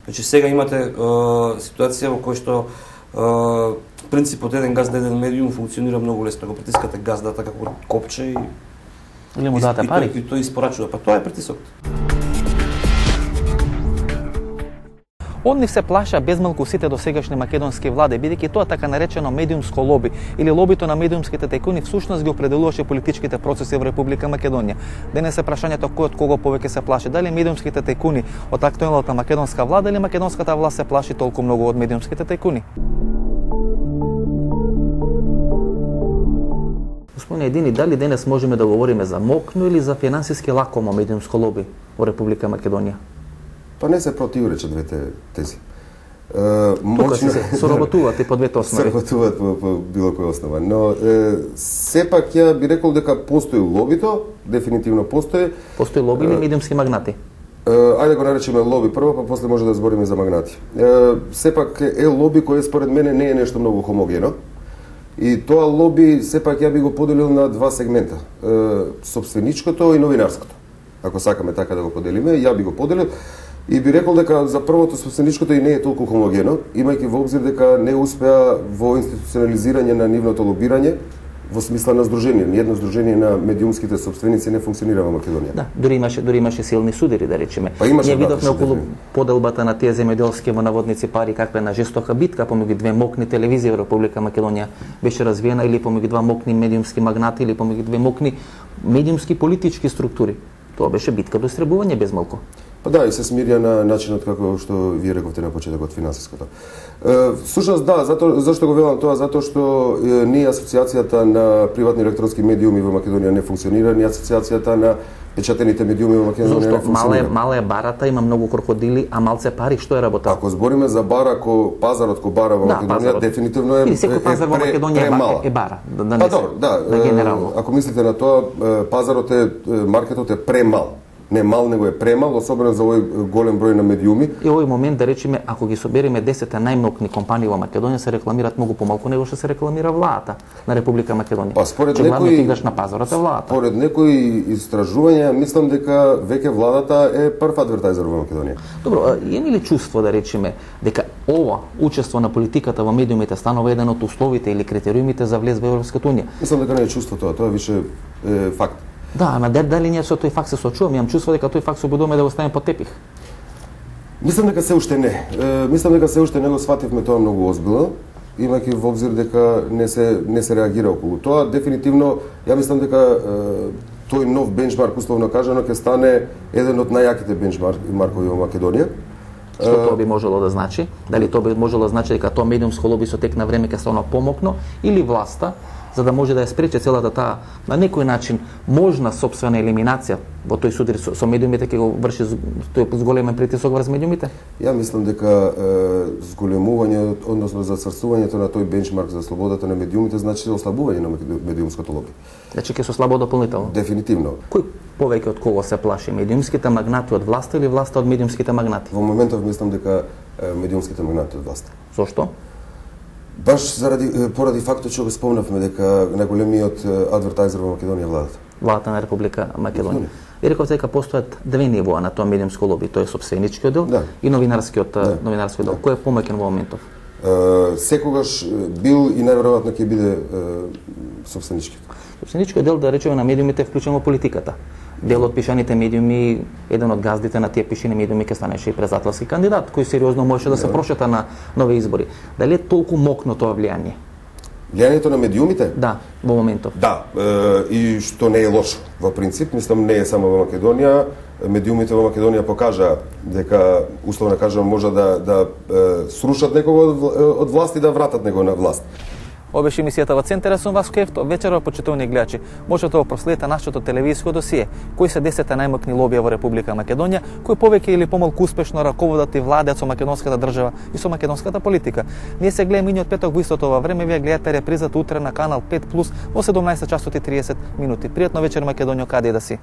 Значи сега имате ситуација во која што принципот еден газ на еден медиум функционира многу лесно. Го притискате газдата како копче и или му дадете пари. И тој испорачува. Па тоа е притисокот. Од нив се плаша безмалку сите досегашни македонски влади, бидејќи тоа така наречено медиумско лоби или лобито на медиумските тајкуни всушност ги определуваше политичките процеси во Република Македонија. Денес е прашањето кој од кого повеќе се плаши, дали медиумските тајкуни од актуелната македонска влада или македонската власт се плаши толку многу од медиумските тајкуни. Господине Едини, дали денес можеме да говориме за мокно или за финансиски лакомо медиумско лоби во Република Македонија? Па не се противречат двете тези. Тука се соработуваат и по двете основи. Соработуваат по било која основа, но сепак ја би рекол дека постои лобито, дефинитивно постои. Постои лоби или медиумски магнати? Ајде го наречеме лоби прво, па после може да збориме за магнати. Сепак е лоби кој според мене не е нешто многу хомогено. И тоа лоби сепак ја би го поделил на два сегмента. Собственичкото и новинарското. Ако сакаме така да го поделиме, ја би го поделил. И би рекол дека за првото собственичкото и не е толку хомогено, имајќи во обзир дека не успеа во институционализирање на нивното лобирање во смисла на здружение. Ниедно здружение на медиумските собственици не функционира во Македонија. Да, дури имаше силни судири, да речеме. Па имаше, ние видовме околу поделбата на тие земјоделски во наводници пари каква е на жестока битка помеѓу две мокни телевизии во Република Македонија беше развиена, или помеѓу два мокни медиумски магнати, или помеѓу две мокни медиумски политички структури. Тоа беше битка до истребување без малку. Па да, и се смирија на начинот како што вие рековте на почетокот финансиското. Всушност да, зашто го велам тоа? Затоа што ни асоциацијата на приватни електронски медиуми во Македонија не функционира, ни асоциацијата на печатените медиуми во Македонија не функционира. Мала е барата, има многу крокодили, а малце пари, што е работа? Ако збориме за бара пазарот ко бара во Македонија, дефинитивно е секој пазар во Македонија е бара. Па добро, да. Генерално. Ако мислите на тоа, пазарот маркетот е премал. Не мал, него е премал, особено за овој голем број на медиуми. И овој момент, да речеме, ако ги собереме 10 најмнокни компании во Македонија, се рекламираат многу помалку него што се рекламира владата на Република Македонија. Па според некои играш на пазарот е владата. Според некои истражувања, мислам дека веќе владата е прв адвертајзер во Македонија. Добро, има ли чувство, да речеме, дека ова учество на политиката во медиумите станува еден од условите или критериумите за влез во Европската унија? Мислам дека не е чувство тоа е више факт. Да, ама дали ние со тој факт се соочуваме? Имам чувство дека тој факт се обидуваме да го ставиме под тепих. Мислам дека се уште не. Мислам дека се уште не го свативме тоа многу озбилно, имајќи во обзир дека не се реагира околу тоа. Дефинитивно, ја мислам дека тој нов бенчмарк, условно кажано, ќе стане еден од најаките бенчмаркови во Македонија. Што тоа би можело да значи? Дали тоа би можело да значи дека тоа медиумско лоби со тек на време ќе стане помокно, или власта, за да може да ја спрече целата таа на некој начин можна сопствена елиминација во тој судар со медиумите, ќе го врши тој зголемен притисок врз медиумите? Ја мислам дека зголемување, односно зацрсувањето на тој бенчмарк за слободата на медиумите значи ослабување на медиумското лоби. Значи ќе се ослабува дополнително. Дефинитивно. Кој повеќе од кого се плаши, медиумските магнати од власта или власта од медиумските магнати? Во моментов мислам дека медиумските магнати од власта. Зошто? Баш поради фактот што го спомнавме дека најголемиот адвертајзер во Македонија е владата. Владата на Република Македонија. И рековте дека постојат две нивоа на тоа медиумско лоби, тоа е сопственичкиот дел и новинарскиот дел. Кој е помоќен во моментов? Секогаш бил и најверојатно ќе биде сопственичкиот. Сопственичкиот дел, да речеме, на медиумите вклучен во политиката. Дел од пишаните медиуми, еден од газдите на тие пишани медиуми ќе станеше и презателски кандидат, кој сериозно можеше да се прошета на нови избори. Дали е толку мокно тоа влијание? Влијанието на медиумите? Да, во моментов. Да, и што не е лошо. Во принцип, мислам, не е само во Македонија. Медиумите во Македонија покажа дека, условно кажам, може да срушат некого од власт и да вратат него на власт. Ова беше емисијата во Центар, сум Васко Ефто. Вечерва, почитувани гледачи, можете да проследите нашето телевизиско досие, кои се 10 најмокни лобија во Република Македонија, кои повеќе или помалку успешно раководат и владеат со македонската држава и со македонската политика. Ние се гледаме миниот петок во истото ова време, вие гледате репризата утре на канал 5+ во 17 часот и 30 минути. Пријатно вечер, Македонија, каде да си.